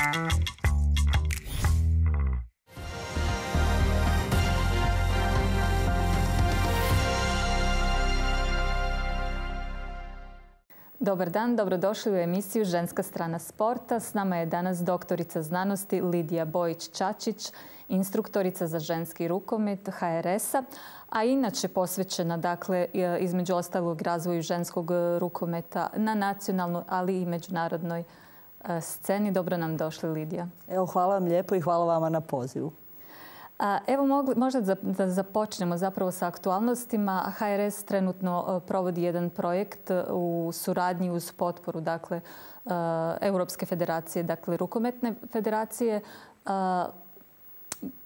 Dobar dan, dobrodošli u emisiju Ženska strana sporta. S nama je danas doktorica znanosti Lidija Bojić-Čačić, instruktorica za ženski rukomet HRS-a, a inače posvećena, dakle, između ostalog razvoju ženskog rukometa na nacionalnoj, ali i međunarodnoj sceni. Dobro nam došli, Lidija. Evo, hvala vam lijepo i hvala vama na pozivu. Evo, možda da započnemo zapravo sa aktualnostima. HRS trenutno provodi jedan projekt u suradnji uz potporu, dakle, Europske federacije, dakle, rukometne federacije.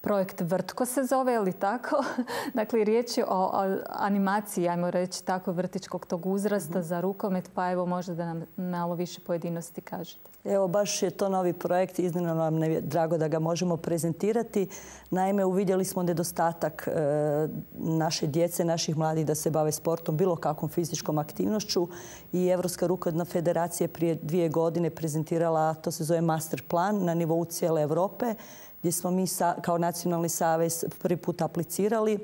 Projekt Vrtko se zove, je li tako? Dakle, riječ je o animaciji, ajmo reći tako, vrtičkog tog uzrasta za rukomet, pa evo možda da nam malo više pojedinosti kažete. Evo, baš je to novi projekt, iznimno nam je drago da ga možemo prezentirati. Naime, uvidjeli smo nedostatak naše djece, naših mladih da se bave sportom, bilo kakvom fizičkom aktivnošću i Europska rukometna federacija prije 2 godine prezentirala, to se zove master plan na nivou cijele Europe, gdje smo mi kao nacionalni savez prvi put aplicirali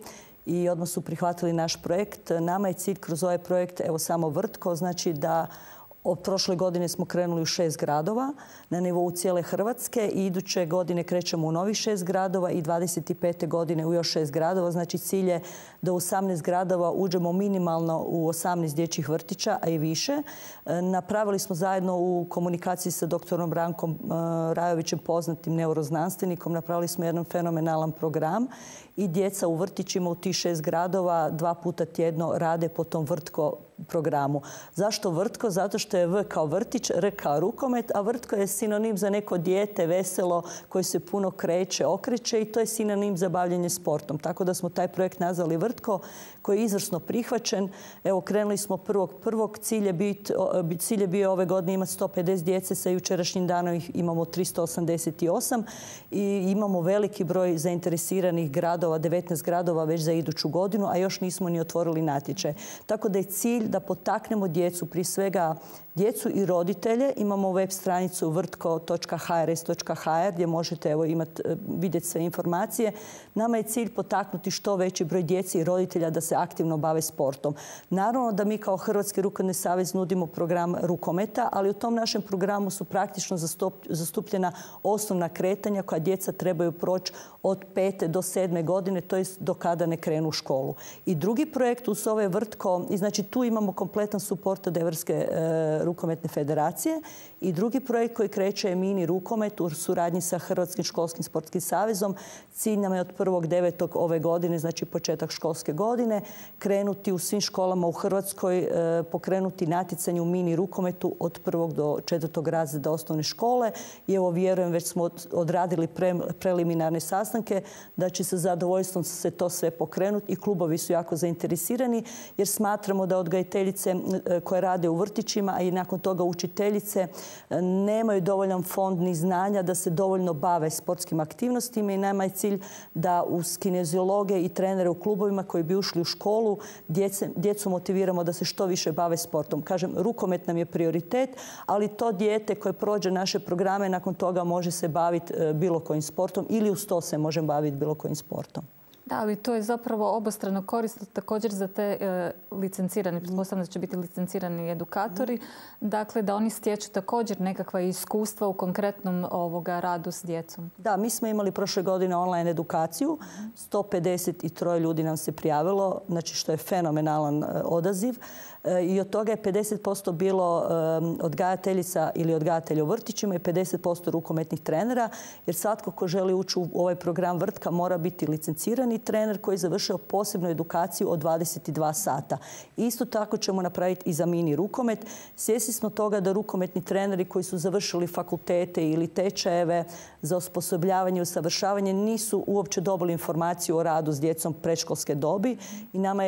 i odmah su prihvatili naš projekt. Nama je cilj kroz ovaj projekt, evo samo Vrtko, znači da od prošle godine smo krenuli u 6 gradova na nivou cijele Hrvatske i iduće godine krećemo u novih 6 gradova i 25. godine u još 6 gradova. Znači cilj je da u 18 gradova uđemo minimalno u 18 dječjih vrtića, a i više. Napravili smo zajedno u komunikaciji sa doktorom Brankom Rajovićem, poznatim neuroznanstvenikom, napravili smo jedan fenomenalan program i djeca u vrtićima u tih 6 gradova 2 puta tjedno rade po tom Vrtko programu. Zašto Vrtko? Zato što je V kao vrtić, R kao rukomet, a Vrtko je sinonim za neko dijete veselo koje se puno kreće, okreće i to je sinonim za bavljenje sportom. Tako da smo taj projekt nazvali Vrtko, koji je izvrsno prihvaćen. Evo, krenuli smo prvog. Cilj je bio ove godine imati 150 djece, sa jučerašnjim danom ih imamo 388 i imamo veliki broj zainteresiranih gradova, 19 gradova već za iduću godinu, a još nismo ni otvorili natječaj. Tako da je cilj da potaknemo djecu, prije svega djecu i roditelje. Imamo web stranicu vrtko.hrs.hr gdje možete vidjeti sve informacije. Nama je cilj potaknuti što veći broj djece i roditelja da se aktivno bave sportom. Naravno da mi kao Hrvatski rukometni savez nudimo program rukometa, ali u tom našem programu su praktično zastupljena osnovna kretanja koja djeca trebaju proći od 5. do 7. godine, to je do kada ne krenu u školu. I drugi projekt uz ove Vrtko, i znači tu imamo kompletan suport od Europske rukometne federacije i drugi projekt koji kreće je mini rukomet u suradnji sa Hrvatskim školskim sportskim savezom. Cilj nam je od 1.9. ove godine, znači početak školske godine, krenuti u svim školama u Hrvatskoj, pokrenuti natjecanje u mini rukometu od 1. do 4. razreda osnovne škole. I evo, vjerujem, već smo odradili preliminarne sastanke da će sa zadovoljstvom se to sve pokrenuti i klubovi su jako zainteresirani jer smatramo da odgajiteljice koje rade u vrtićima, a i nakon toga učiteljice nemaju dovoljan fond ni znanja da se dovoljno bave sportskim aktivnostima i nama je cilj da uz kineziologe i trenere u klubovima koji bi ušli u školu djecu motiviramo da se što više bave sportom. Kažem, rukomet nam je prioritet, ali to dijete koje prođe naše programe nakon toga može se baviti bilo kojim sportom ili uz to se može baviti bilo kojim sportom. Da, ali to je zapravo obostrano korisno također za te licencirane, pretpostavljam da će biti licencirani edukatori, dakle da oni stječu također nekakva iskustva u konkretnom radu s djecom. Da, mi smo imali prošle godine online edukaciju, 153 ljudi nam se prijavilo, znači što je fenomenalan odaziv. I od toga je 50% bilo odgajateljica ili odgajatelja u vrtićima i 50% rukometnih trenera, jer svatko ko želi ući u ovaj program Vrtka mora biti licencirani trener koji je završio posebnu edukaciju od 22 sata. Isto tako ćemo napraviti i za mini rukomet. Svjesni smo toga da rukometni treneri koji su završili fakultete ili tečajeve za osposobljavanje i usavršavanje nisu uopće dobili informaciju o radu s djecom predškolske dobi i nama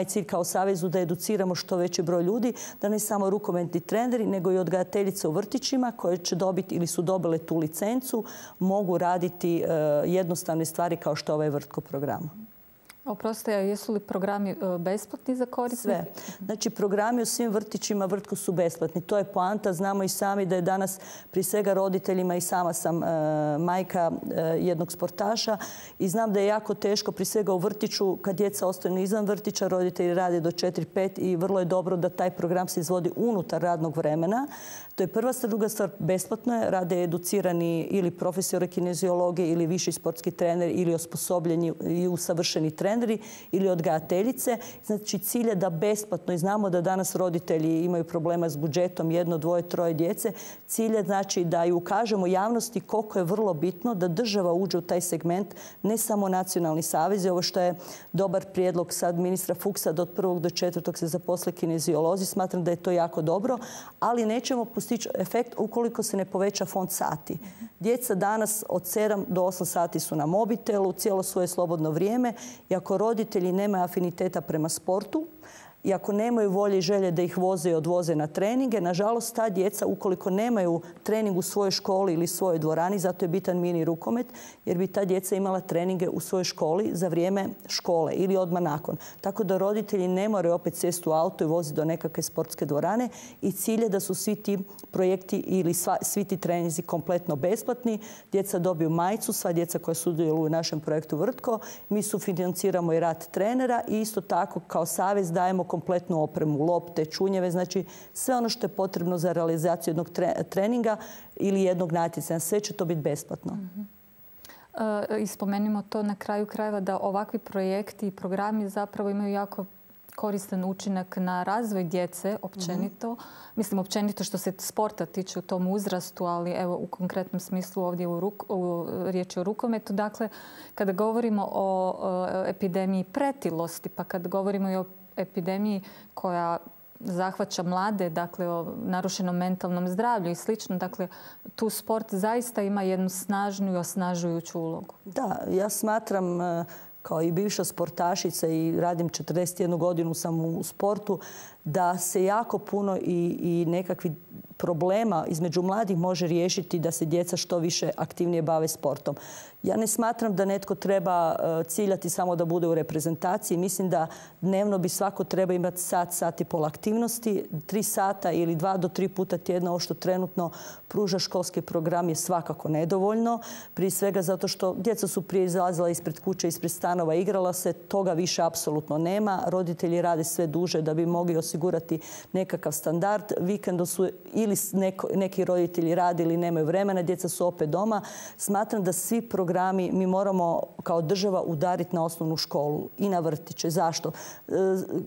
je cilj kao savezu da educiramo što veći broj ljudi, da ne samo rukometni treneri, nego i odgajateljice u vrtićima koje će dobiti ili su dobile tu licencu, mogu raditi jednostavne stvari kao što je ovaj Vrtko program. Oprostite, jesu li programi besplatni za korisnike? Sve. Znači, programi u svim vrtićima vrtku su besplatni. To je poanta. Znamo i sami da je danas prije svega roditeljima, i sama sam majka jednog sportaša, i znam da je jako teško prije svega u vrtiću kad djeca ostaju izvan vrtića, roditelji rade do 4-5 i vrlo je dobro da taj program se izvodi unutar radnog vremena. To je prva stvar. Druga stvar, besplatno je. Rade educirani ili profesori kineziologije ili viši sportski treneri ili osposobljeni i usavršeni treneri ili odgajateljice. Znači, cilj je da besplatno, i znamo da danas roditelji imaju problema s budžetom, 1, 2, 3 djece. Cilj je znači da i ukažemo javnosti koliko je vrlo bitno da država uđe u taj segment, ne samo nacionalni savez. Ovo što je dobar prijedlog sad ministra Fuchsa da od 1. do 4. se zaposle kineziolozi. Smatram da je to jako dobro, ali nećemo postići efekt ukoliko se ne poveća fond sati. Djeca danas od 7 do 8 sati su na mobitelu, cijelo svoje slobodno vrijeme, i ako roditelji nemaju afiniteta prema sportu, i ako nemaju volje i želje da ih voze i odvoze na treninge, nažalost ta djeca, ukoliko nemaju trening u svojoj školi ili svojoj dvorani, zato je bitan mini rukomet, jer bi ta djeca imala treninge u svojoj školi za vrijeme škole ili odmah nakon. Tako da roditelji ne moraju opet sjesti u auto i voziti do nekakve sportske dvorane, i cilj je da su svi ti projekti ili svi ti treninzi kompletno besplatni. Djeca dobiju majicu, sva djeca koja sudjeluju u našem projektu Vrtko. Mi sufinanciramo i rad trenera i isto tako kao savez dajemo kompletnu opremu, lopte, čunjeve, znači sve ono što je potrebno za realizaciju jednog treninga ili jednog natjecanja. Sve će to biti besplatno. I spomenimo to na kraju krajeva da ovakvi projekti i programi zapravo imaju jako koristan učinak na razvoj djece općenito. Mislim općenito što se sporta tiče u tom uzrastu, ali evo u konkretnom smislu ovdje riječ je o rukometu. Dakle, kada govorimo o epidemiji pretilosti, pa kad govorimo i o epidemiji koja zahvaća mlade, dakle o narušenom mentalnom zdravlju i slično. Dakle, tu sport zaista ima jednu snažnu i osnažujuću ulogu. Da, ja smatram kao i bivša sportašica i radim 41 godinu sam u sportu, da se jako puno i nekakvi problema između mladih može riješiti da se djeca što više aktivnije bave sportom. Ja ne smatram da netko treba ciljati samo da bude u reprezentaciji. Mislim da dnevno bi svako treba imati sat i pol aktivnosti. 3 sata ili 2 do 3 puta tjedno, ovo što trenutno pruža školski program, je svakako nedovoljno. Prije svega zato što djeca su prije izlazila ispred kuće, ispred stanova, igrala se. Toga više apsolutno nema. Roditelji rade sve duže da bi mogli osigurati nekakav standard. Vikendom su ili neki roditelji rade ili nemaju vremena, djeca su opet doma. Smatram da svi programi mi moramo kao država udariti na osnovnu školu i na vrtiće. Zašto?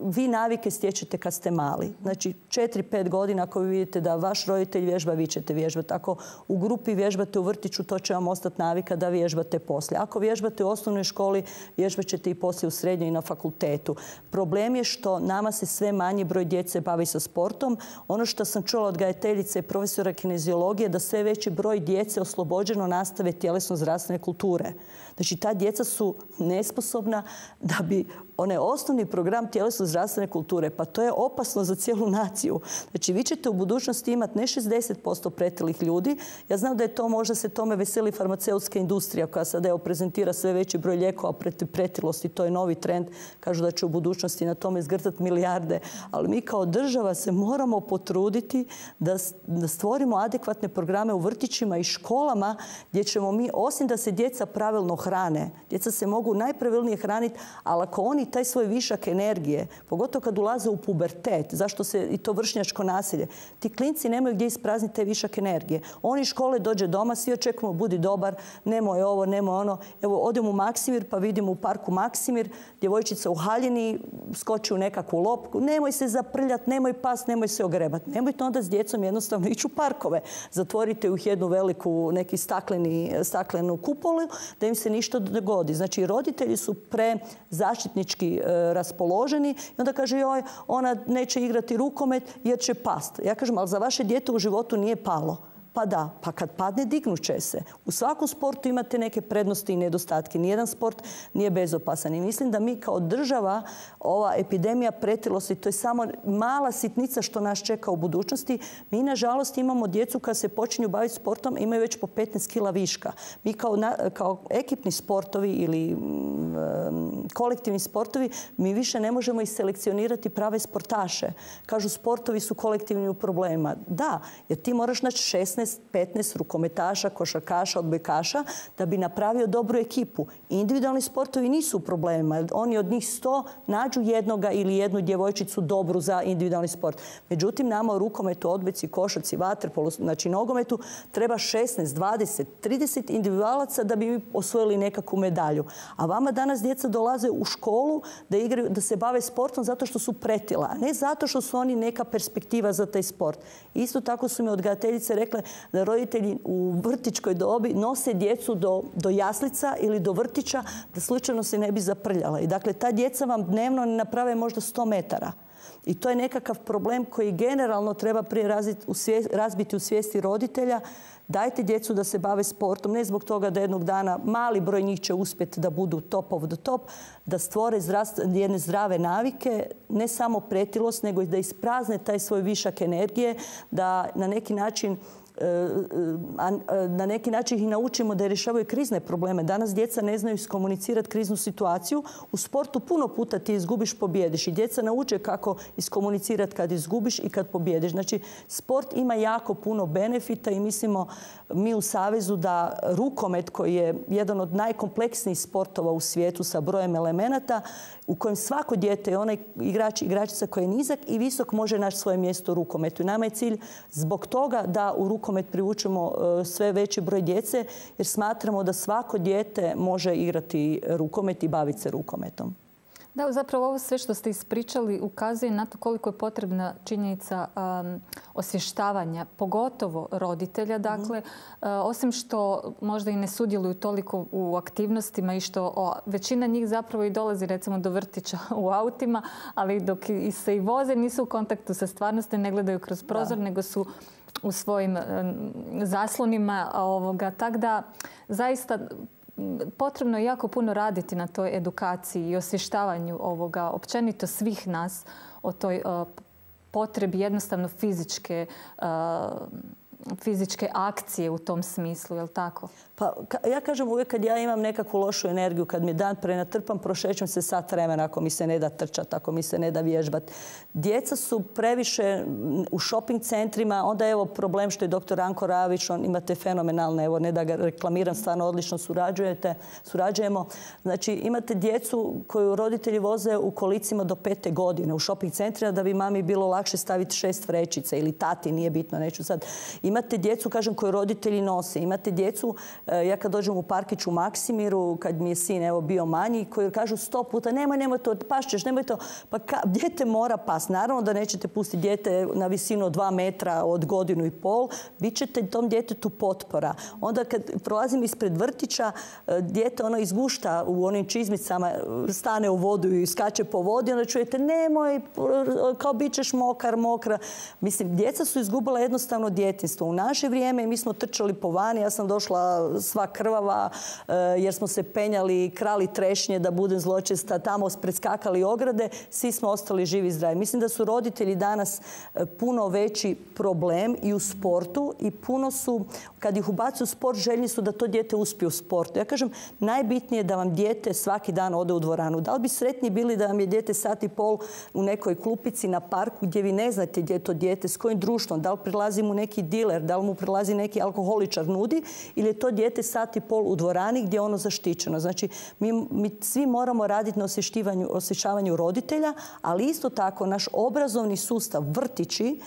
Vi navike stječete kad ste mali. Znači 4-5 godina ako vi vidite da vaš roditelj vježba, vi ćete vježbati. Ako u grupi vježbate u vrtiću, to će vam ostati navika da vježbate poslije. Ako vježbate u osnovnoj školi, vježbat ćete i poslije u srednjoj i na fakultetu. Problem je što nama se sve manji broj djece bavi sa sportom. Ono što sam čula od odgajateljice i profesora kineziologije, da sve veći broj djece oslobođeno nastave tjelesno-zdravstvene kulture. Znači, ta djeca su nesposobna da bi onaj osnovni program tjelesno-zdravstvene kulture, pa to je opasno za cijelu naciju. Znači, vi ćete u budućnosti imati ne 60% pretilih ljudi. Ja znam da je to, možda se tome veseli farmaceutska industrija koja sada prezentira sve veći broj lijekova protiv pretilosti. To je novi trend. Kažu da će u budućnosti na tome izgrtati milijarde. Ali mi kao država se moramo potruditi da stvorimo adekvatne programe u vrtićima i školama gdje ćemo mi, osim da se djeca pravilno hrane, djeca se mogu najpravilnije hraniti, ali ako oni taj svoj višak energije, pogotovo kad ulaze u pubertet, zašto se i to vršnjačko nasilje, ti klinci nemaju gdje isprazniti taj višak energije. Oni iz škole dođe doma, svi očekujemo budi dobar, nemoj ovo, nemoj ono. Evo, odem u Maksimir pa vidimo u parku Maksimir, djevojčica u haljini skoči u nekakvu lopku, nemoj se zaprljati, nemoj past, nemoj se ogrebati. Nemojte onda s djecom jednostavno ići u parkove. Zatvorite u jednu veliku, neki staklenu kupolu da im se ništa dogodi. Znači, roditelji su prezaštitnički raspoloženi i onda kaže, joj, ona neće igrati rukomet jer će past. Ja kažem, ali za vaše dijete u životu nije palo. Pa da, pa kad padne dignut će se. U svakom sportu imate neke prednosti i nedostatke. Nijedan sport nije bezopasan. I mislim da mi kao država, ova epidemija pretilosti, to je samo mala sitnica što nas čeka u budućnosti. Mi, nažalost, imamo djecu kad se počinju baviti sportom, imaju već po 15 kila viška. Mi kao ekipni sportovi ili kolektivni sportovi, mi više ne možemo selekcionirati prave sportaše. Kažu, sportovi su kolektivni u problemima. Da, jer ti moraš naći 16-15 rukometaša, košarkaša, odbojkaša da bi napravio dobru ekipu. Individualni sportovi nisu u problemima. Oni od njih 100 nađu jednoga ili jednu djevojčicu dobru za individualni sport. Međutim, nama u rukometu, odbojci, košarci, vaterpolu, znači nogometu, treba 16, 20, 30 individualaca da bi osvojili nekakvu medalju. A vama danas djeca dolaze u školu da se bave sportom zato što su pretila, a ne zato što su oni neka perspektiva za taj sport. Isto tako su mi odgajateljice rekle da roditelji u vrtićkoj dobi nose djecu do jaslica ili do vrtića da slučajno se ne bi zaprljala. I dakle, ta djeca vam dnevno ne naprave možda 100 metara. I to je nekakav problem koji generalno treba prije razbiti u svijesti roditelja. Dajte djecu da se bave sportom, ne zbog toga da jednog dana mali broj njih će uspjeti da budu top of the top, da stvore jedne zdrave navike, ne samo pretilost, nego i da isprazne taj svoj višak energije, da na neki način ih naučimo da rješavaju krizne probleme. Danas djeca ne znaju iskomunicirati kriznu situaciju. U sportu puno puta ti izgubiš, pobjediš. I djeca nauče kako iskomunicirati kad izgubiš i kad pobjediš. Znači, sport ima jako puno benefita i mislimo mi u Savezu da rukomet, koji je jedan od najkompleksnijih sportova u svijetu sa brojem elemenata, u kojem svako dijete je onaj igrač, igračica koji je nizak i visok može naći svoje mjesto u rukometu. I nama je cilj zbog toga da u rukomet privučemo sve veći broj djece, jer smatramo da svako dijete može igrati rukomet i baviti se rukometom. Da, zapravo ovo sve što ste ispričali ukazuje na to koliko je potrebna činjenica osvještavanja, pogotovo roditelja. Dakle, osim što možda i ne sudjeluju toliko u aktivnostima i što većina njih zapravo i dolazi recimo do vrtića u autima, ali dok se i voze nisu u kontaktu sa stvarnosti, ne gledaju kroz prozor, nego su u svojim zaslonima. Tako da zaista potrebno je jako puno raditi na toj edukaciji i osvještavanju općenito svih nas o toj potrebi jednostavno fizičke akcije u tom smislu, je li tako? Pa ja kažem uvijek kad ja imam nekakvu lošu energiju, kad mi je dan prenatrpan, prošećem se sat vremena ako mi se ne da trčati, ako mi se ne da vježbati. Djeca su previše u shopping centrima, onda evo problem što je dr. Anko Ravić, imate fenomenalne, evo ne da ga reklamiram, stvarno odlično surađujemo. Znači imate djecu koju roditelji voze u kolicima do 5. godine u shopping centrima da bi mami bilo lakše staviti 6 vrećica ili tati, nije bitno, neću sad. Imate djecu, kažem, koju roditelji nose. Imate djecu, ja kad dođem u parkić u Maksimiru, kad mi je sin bio manji, koji kažu 100 puta nemoj to, pašćeš, nemoj to. Pa dijete mora past. Naravno da nećete pustiti dijete na visinu od 2 metra od 1,5 godine. Bit ćete tom djetetu potpora. Onda kad prolazim ispred vrtića, dijete izgušta u onim čizmicama, stane u vodu i skače po vodi, onda čujete nemoj, kao bit ćeš mokra. Mislim, djeca su izgubila jednostavno djetinjstvo. U naše vrijeme mi smo trčali po vani, ja sam došla sva krvava jer smo se penjali, krali trešnje, da budem zločesta, tamo preskakali ograde, svi smo ostali živi i zdravi. Mislim da su roditelji danas puno veći problem i u sportu i puno su, kad ih ubacuju u sport, željni su da to dijete uspije u sportu. Ja kažem, najbitnije je da vam dijete svaki dan ode u dvoranu. Da li bi sretni bili da vam je dijete 1,5 sata u nekoj klupici na parku gdje vi ne znate gdje je to dijete, s kojim društvom, da li prilazi mu neki diler, da li mu prilazi neki alkoholičar nudi ili je to dijete 1,5 sata u dvorani gdje je ono zaštićeno. Znači, mi svi moramo raditi na osvješćavanju roditelja, ali isto tako naš obrazovni sustav, vrtići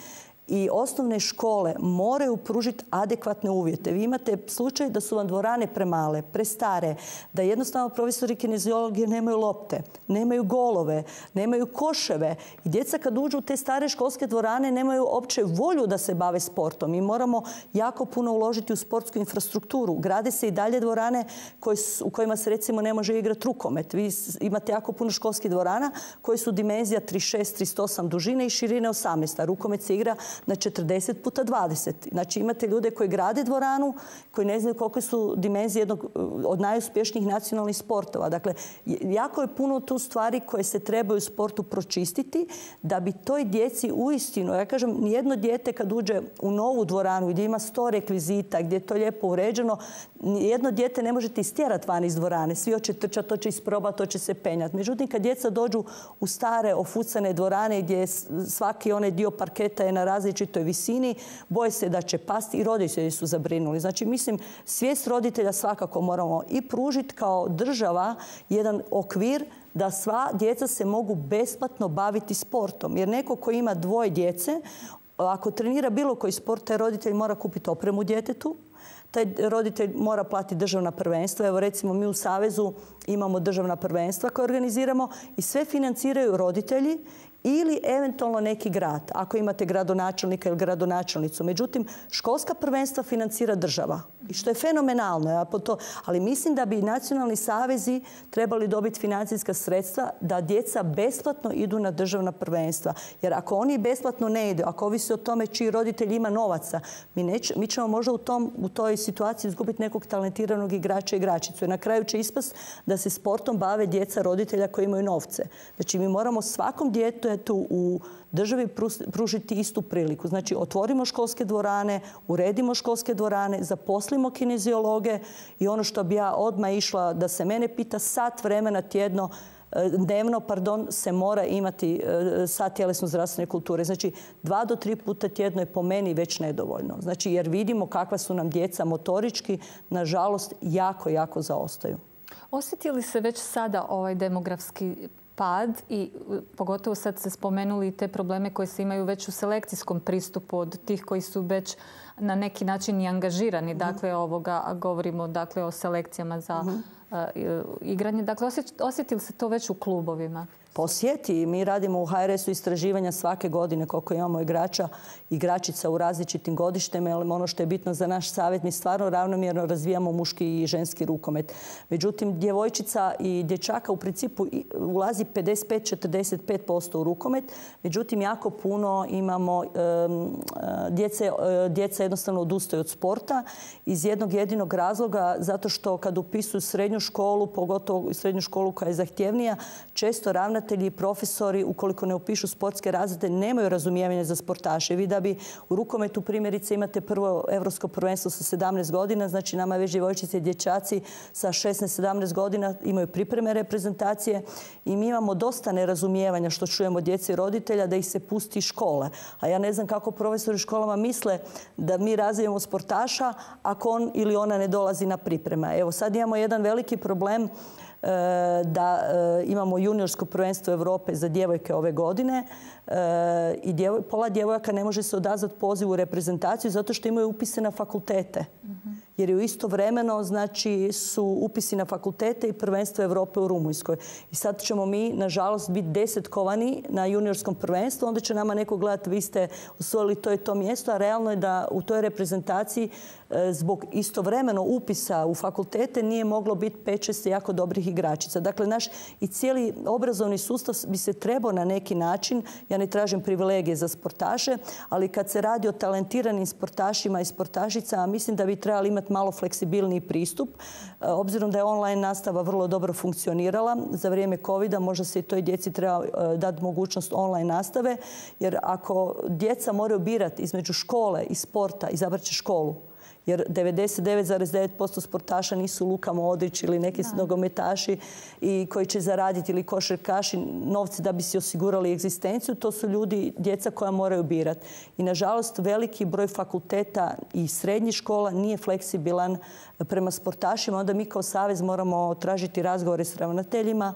i osnovne škole moraju pružiti adekvatne uvjete. Vi imate slučaj da su vam dvorane premale, prestare, da jednostavno profesori kineziologije nemaju lopte, nemaju golove, nemaju koševe. I djeca kad uđu u te stare školske dvorane nemaju uopće volju da se bave sportom. Mi moramo jako puno uložiti u sportsku infrastrukturu. Grade se i dalje dvorane u kojima se recimo ne može igrati rukomet. Vi imate jako puno školskih dvorana koje su dimenzija 36, 38 dužine i širine 18. A rukomet se igra na 40 puta 20. Znači imate ljude koji grade dvoranu, koji ne znaju koliko su dimenzije jednog od najuspješnijih nacionalnih sportova. Dakle, jako je puno tu stvari koje se trebaju u sportu pročistiti da bi toj djeci uistinu, ja kažem, nijedno dijete kad uđe u novu dvoranu gdje ima 100 rekvizita, gdje je to lijepo uređeno, nijedno dijete ne možete istjerati van iz dvorane. Svi hoće trčati, to će isprobati, to će se penjati. Međutim, kad djeca dođu u stare ofucane dvorane gdje svaki onaj dio parketa je na različitoj visini, boje se da će pasti i roditelji su zabrinuli. Znači, mislim, svijest roditelja svakako moramo i pružiti kao država jedan okvir da sva djeca se mogu besplatno baviti sportom. Jer neko ko ima 2 djece, ako trenira bilo koji sport, taj roditelj mora kupiti opremu djetetu, taj roditelj mora platiti državna prvenstva. Evo recimo mi u Savezu imamo državna prvenstva koje organiziramo i sve financiraju roditelji ili eventualno neki grad, ako imate gradonačelnika ili gradonačelnicu. Međutim, školska prvenstva financira država. I što je fenomenalno. Ali mislim da bi nacionalni savezi trebali dobiti financijska sredstva da djeca besplatno idu na državna prvenstva. Jer ako oni besplatno ne idu, ako ovisi o tome čiji roditelj ima novaca, mi ćemo možda u toj situaciji izgubiti nekog talentiranog igrača i igračicu. Jer na kraju će ispast da se sportom bave djeca roditelja koji imaju novce. Znači, mi moramo svakom djetetu u državi pružiti istu priliku. Znači, otvorimo školske dvorane, uredimo školske dvorane, zaposlimo kineziologe i ono što bi ja odmah išla da se mene pita, sat vremena dnevno se mora imati sat tjelesno zdravstvene kulture. Znači, 2 do 3 puta tjedno je po meni već nedovoljno. Znači, jer vidimo kakva su nam djeca motorički, nažalost, jako, jako zaostaju. Osjeti li se već sada ovaj demografski pad i pogotovo sad ste spomenuli te probleme koje se imaju već u selekcijskom pristupu od tih koji su već na neki način i angažirani. Dakle, govorimo o selekcijama za igranje. Dakle, osjeti li se to već u klubovima? Osjeti. Mi radimo u HRS-u istraživanja svake godine koliko imamo igrača i igračica u različitim godištima. Ono što je bitno za naš savjet, mi stvarno ravnomjerno razvijamo muški i ženski rukomet. Međutim, djevojčica i dječaka u principu ulazi 55-45% u rukomet. Međutim, jako puno imamo djeca jednostavno odustaju od sporta iz jednog jedinog razloga, zato što kad upisuju srednju školu, pogotovo srednju školu koja je zahtjevnija, često ravnatelji i profesori, ukoliko ne upišu sportske razrede, nemaju razumijevanja za sportaše. Vi da bi u rukometu primjerice imate prvo evropsko prvenstvo sa 17 godina, znači nama već djevojčice i dječaci sa 16-17 godina imaju pripreme reprezentacije i mi imamo dosta nerazumijevanja što čujemo od djece i roditelja da ih se pusti iz škole. A ja ne znam kako profesori u školama misle da mi razvijemo sportaša ako on ili ona ne dolazi na pripreme. Evo sad imamo jedan veliki problem da imamo juniorsko prvenstvo Europe za djevojke ove godine i pola djevojaka ne može se odazvati pozivu u reprezentaciju zato što imaju upise na fakultete. Jer je istovremeno su upisi na fakultete i prvenstvo Europe u Rumunjskoj. I sad ćemo mi, nažalost, biti 10kovani na juniorskom prvenstvu. Onda će nama neko gledati, vi ste osvojili to i to mjesto, a realno je da u toj reprezentaciji zbog istovremeno upisa u fakultete nije moglo biti 5-6 jako dobrih igračica. Dakle, naš i cijeli obrazovni sustav bi se trebao na neki način, ja ne tražim privilegije za sportaše, ali kad se radi o talentiranim sportašima i sportašicama, mislim da bi trebali imati malo fleksibilniji pristup. Obzirom da je online nastava vrlo dobro funkcionirala za vrijeme covida, možda se i toj djeci treba dati mogućnost online nastave, jer ako djeca moraju birati između škole i sporta, izabrat će školu. Jer 99,9% sportaša nisu Luka Modrić ili neki nogometaši i koji će zaraditi ili košarkaši novce da bi si osigurali egzistenciju. To su djeca koja moraju birati. I nažalost veliki broj fakulteta i srednjih škola nije fleksibilan prema sportašima. Onda mi kao savez moramo tražiti razgovore s ravnateljima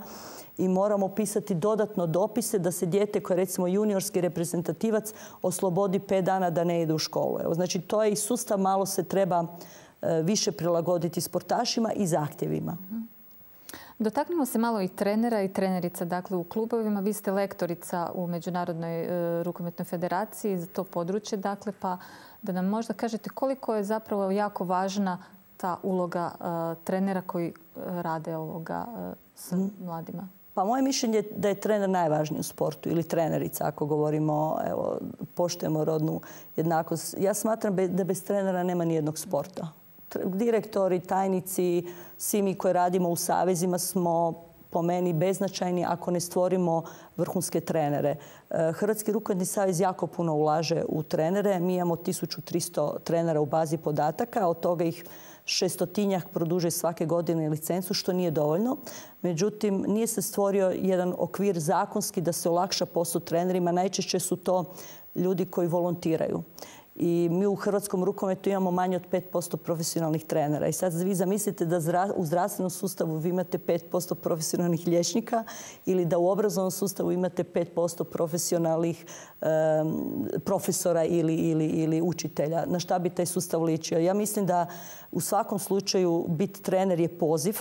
i moramo pisati dodatno dopise da se dijete koje je recimo juniorski reprezentativac oslobodi 5 dana da ne ide u školu. Evo, znači to je i sustav, malo se treba više prilagoditi sportašima i zahtjevima. Dotaknemo se malo i trenera i trenerica. Dakle, u klubovima vi ste lektorica u Međunarodnoj rukometnoj federaciji za to područje. Dakle, pa da nam možda kažete koliko je zapravo jako važna ta uloga trenera koji rade s mladima. Pa moje mišljenje je da je trener najvažniji u sportu ili trenerica ako govorimo, evo, poštujemo rodnu jednakost. Ja smatram da bez trenera nema nijednog sporta. Direktori, tajnici, svi mi koji radimo u savezima smo po meni beznačajni ako ne stvorimo vrhunske trenere. Hrvatski rukometni savez jako puno ulaže u trenere. Mi imamo 1300 trenera u bazi podataka, od toga ih 600-tinjak produže svake godine licencu, što nije dovoljno. Međutim, nije se stvorio jedan okvir zakonski da se olakša posao trenerima. Najčešće su to ljudi koji volontiraju. I mi u hrvatskom rukometu imamo manje od 5% profesionalnih trenera. I sad vi zamislite da u zdravstvenom sustavu vi imate 5% profesionalnih liječnika ili da u obrazovnom sustavu imate 5% profesionalnih profesora ili učitelja. Na šta bi taj sustav ličio? Ja mislim da u svakom slučaju biti trener je poziv.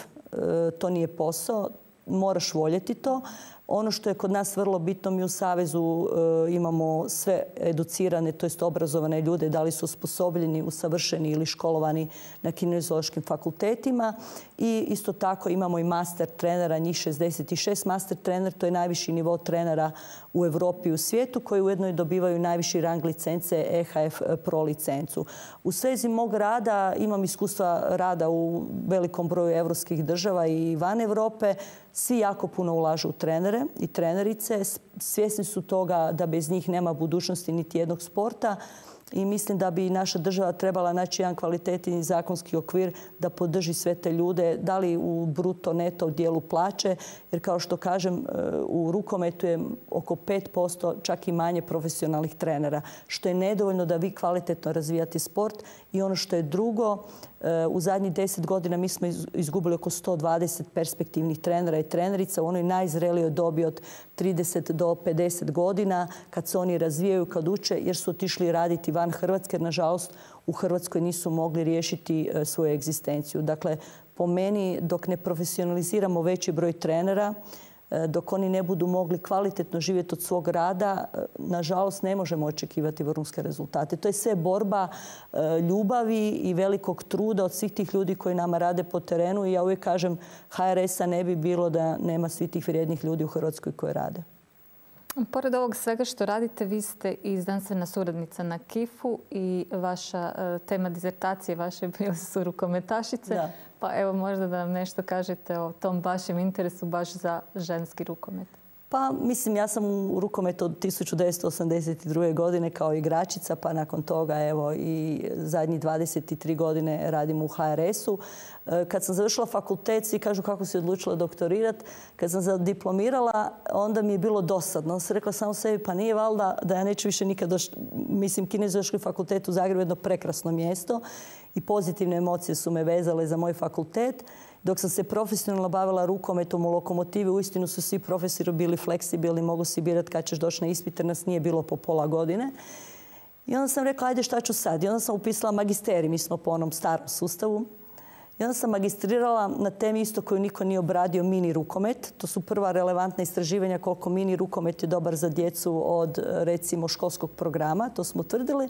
To nije posao. Moraš voljeti to. Ono što je kod nas vrlo bitno, mi u Savezu imamo sve educirane, to jest obrazovane ljude, da li su osposobljeni, usavršeni ili školovani na kineziološkim fakultetima. I isto tako imamo i master trenera, njih 66 master trener, to je najviši nivo trenera u Europi i u svijetu, koji ujedno i dobivaju najviši rang licence EHF Pro licencu. U svezi mog rada imam iskustva rada u velikom broju evropskih država i van Europe. Svi jako puno ulažu u trenere i trenerice. Svjesni su toga da bez njih nema budućnosti niti jednog sporta. I mislim da bi naša država trebala naći jedan kvalitetni zakonski okvir da podrži sve te ljude, da li u bruto, neto dijelu plaće. Jer kao što kažem, u rukometu je oko 5%, čak i manje profesionalnih trenera. Što je nedovoljno da vi kvalitetno razvijate sport. I ono što je drugo, u zadnjih 10 godina mi smo izgubili oko 120 perspektivnih trenera i trenerica u onoj najzrelijoj dobi od 30 do 50 godina, kad se oni razvijaju, kad uče, jer su otišli raditi van Hrvatske, jer nažalost u Hrvatskoj nisu mogli riješiti svoju egzistenciju. Dakle, po meni, dok ne profesionaliziramo veći broj trenera, dok oni ne budu mogli kvalitetno živjeti od svog rada, nažalost ne možemo očekivati vrhunske rezultate. To je sve borba ljubavi i velikog truda od svih tih ljudi koji nama rade po terenu. I ja uvijek kažem, HRS-a ne bi bilo da nema svih tih vrijednih ljudi u Hrvatskoj koji rade. Pored ovog svega što radite, vi ste i znanstvena suradnica na KIF-u i vaša tema dizertacije vaše bile su rukometašice. Da. Pa evo možda da nam nešto kažete o tom vašem interesu baš za ženski rukomet. Pa mislim, ja sam u rukometu od 1982. godine kao igračica, pa nakon toga evo i zadnjih 23 godine radim u HRS-u. Kad sam završila fakultet, svi kažu kako si odlučila doktorirati. Kad sam zadiplomirala, onda mi je bilo dosadno. Onda sam rekla samo sebi, pa nije valjda da ja neću više nikad doći. Mislim, Kineziološki fakultet u Zagrebu je jedno prekrasno mjesto i pozitivne emocije su me vezale za moj fakultet. Dok sam se profesionalno bavila rukometom u Lokomotivi, uistinu su svi profesori bili fleksibilni, mogu si birati kad ćeš doći na ispit, jer nas nije bilo po pola godine. I onda sam rekla, ajde šta ću sad? I onda sam upisala magisterij, mi smo po onom starom sustavu. I onda sam magistrirala na temi isto koju niko nije obradio, mini rukomet. To su prva relevantna istraživanja koliko mini rukomet je dobar za djecu od, recimo, školskog programa. To smo utvrdili.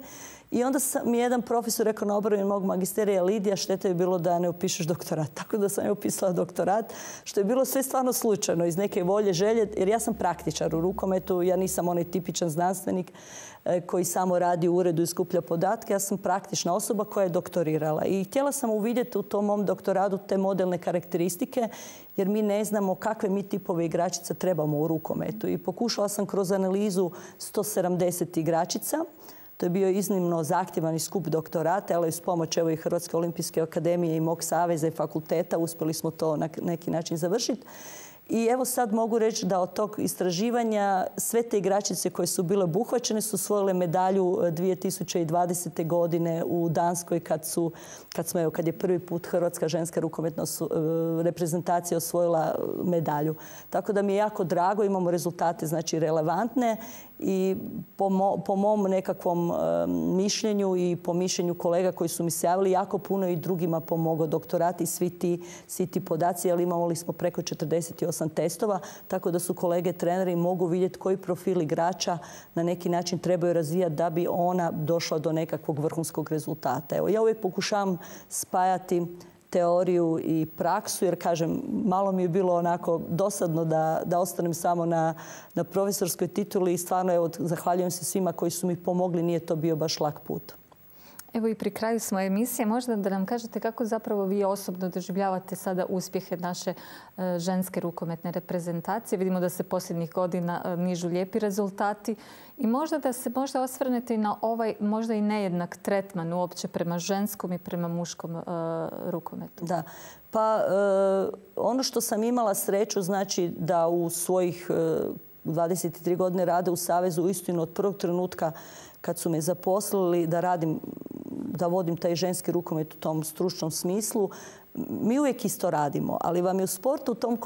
I onda mi jedan profesor rekao na obrani mog magisterija, Lidija, šteta je bilo da ne upišeš doktorat. Tako da sam je upisala doktorat, što je bilo sve stvarno slučajno, iz neke volje, želje. Jer ja sam praktičar u rukometu, ja nisam onaj tipičan znanstvenik koji samo radi u uredu i skuplja podatke. Ja sam praktična osoba koja je doktorirala. I htjela sam uvidjeti u tom mom doktoratu te modelne karakteristike, jer mi ne znamo kakve mi tipove igračica trebamo u rukometu. I pokušala sam kroz analizu 170 igračica. To je bio iznimno zahtjevan i skup doktorata, ali uz pomoć i Hrvatske olimpijske akademije i mog saveza i fakulteta uspjeli smo to na neki način završiti. I evo sad mogu reći da od tog istraživanja sve te igračice koje su bile obuhvaćene su osvojile medalju 2020. godine u Danskoj kad je prvi put Hrvatska ženska rukometna reprezentacija osvojila medalju. Tako da mi je jako drago, imamo rezultate znači relevantne i po mom nekakvom mišljenju i po mišljenju kolega koji su mi se javili, jako puno i drugima pomogao doktorat i svi ti podaci, ali imali smo preko 48 testova, tako da su kolege treneri mogu vidjeti koji profil igrača na neki način trebaju razvijati da bi ona došla do nekakvog vrhunskog rezultata. Evo, ja uvijek pokušavam spajati teoriju i praksu, jer kažem, malo mi je bilo onako dosadno da ostanem samo na profesorskoj tituli i stvarno evo, zahvaljujem se svima koji su mi pomogli, nije to bio baš lak put. Evo i pri kraju smo emisije. Možda da nam kažete kako zapravo vi osobno doživljavate sada uspjehe naše ženske rukometne reprezentacije. Vidimo da se posljednjih godina nižu lijepi rezultati. I možda da se osvrnete i na ovaj možda i nejednak tretman uopće prema ženskom i prema muškom rukometu. Da. Pa ono što sam imala sreću znači da u svojih 23 godine rada u Savezu uistinu od prvog trenutka kad su me zaposlili da vodim taj ženski rukomet u tom stručnom smislu, mi uvijek isto radimo, ali vam je u sportu, u tom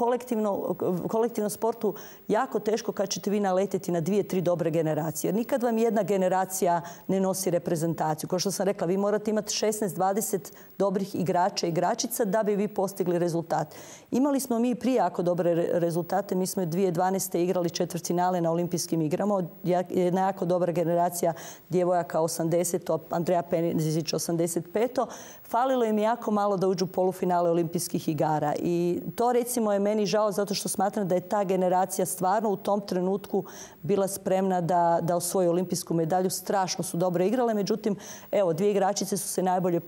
kolektivnom sportu jako teško kad ćete vi naletjeti na 2-3 dobre generacije. Jer nikad vam jedna generacija ne nosi reprezentaciju. Kao što sam rekla, vi morate imati 16-20 dobrih igrača i igračica da bi vi postigli rezultat. Imali smo mi prije jako dobre rezultate. Mi smo 2012. igrali četvrtfinale na olimpijskim igrama. Jedna jako dobra generacija djevojaka 80, Andreja Pezić 85. Falilo im jako malo da uđu u polufinale olimpijskih igara. I to recimo je meni žao zato što smatram da je ta generacija stvarno u tom trenutku bila spremna da osvoji olimpijsku medalju. Strašno su dobro igrale. Međutim, evo, 2 igračice su se najbolje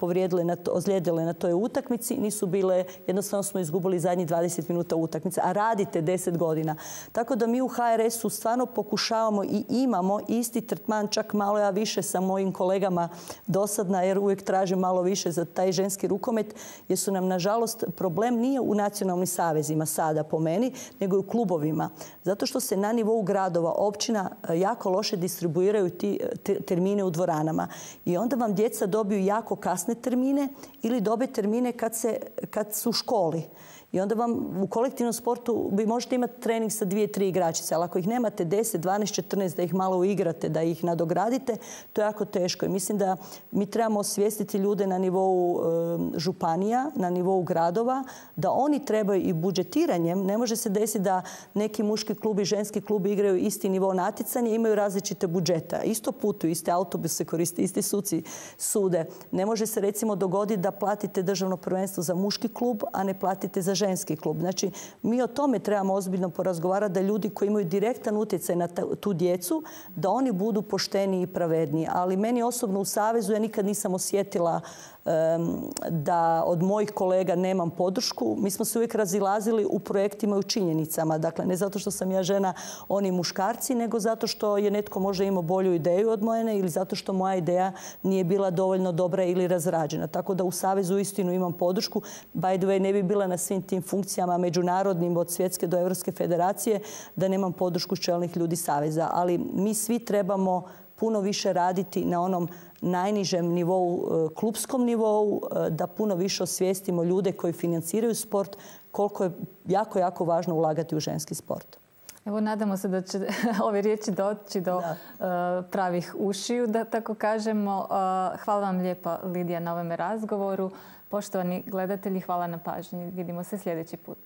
ozlijedile na toj utakmici. Nisu bile, jednostavno smo izgubili zadnjih 20 minuta utakmice. A radite 10 godina. Tako da mi u HRS-u stvarno pokušavamo i imamo isti tretman, čak malo ja više sa mojim kolegama dosadna, jer uvijek tražim malo više za taj ženski rukomet, jer su nam, nažalost, problem nije u nacionalnim savezima sada po meni, nego i u klubovima. Zato što se na nivou gradova, općina jako loše distribuiraju ti termine u dvoranama. I onda vam djeca dobiju jako kasne termine ili dobe termine kad su u školi. I onda vam u kolektivnom sportu vi možete imati trening sa 2-3 igračice, ali ako ih nemate 10, 12, 14 da ih malo uigrate, da ih nadogradite, to je jako teško. I mislim da mi trebamo osvijestiti ljude na nivou županija, na nivou gradova, da oni trebaju i budžetiranjem. Ne može se desiti da neki muški klub i ženski klub igraju isti nivo natjecanja i imaju različite budžeta. Isto putuju, iste autobuse koriste, isti suci sude. Ne može se recimo dogoditi da platite državno prvenstvo za muški klub, a ne platite za ženski klub. Znači, mi o tome trebamo ozbiljno porazgovarati, da ljudi koji imaju direktan utjecaj na tu djecu, da oni budu pošteniji i pravedniji. Ali meni osobno u Savezu ja nikad nisam osjetila da od mojih kolega nemam podršku. Mi smo se uvijek razilazili u projektima i u činjenicama. Dakle, ne zato što sam ja žena, oni muškarci, nego zato što je netko možda imao bolju ideju od mojene ili zato što moja ideja nije bila dovoljno dobra ili razrađena. Tako da u Savezu istinu imam podršku. By the way, ne bi bila na svim tim funkcijama međunarodnim od svjetske do Europske federacije da nemam podršku čelnih ljudi Saveza. Ali mi svi trebamo puno više raditi na onom najnižem nivou, klupskom nivou, da puno više osvijestimo ljude koji financiraju sport, koliko je jako, jako važno ulagati u ženski sport. Evo, nadamo se da će ove riječi doći do pravih ušiju, da tako kažemo. Hvala vam lijepa, Lidija, na ovome razgovoru. Poštovani gledatelji, hvala na pažnji. Vidimo se sljedeći put.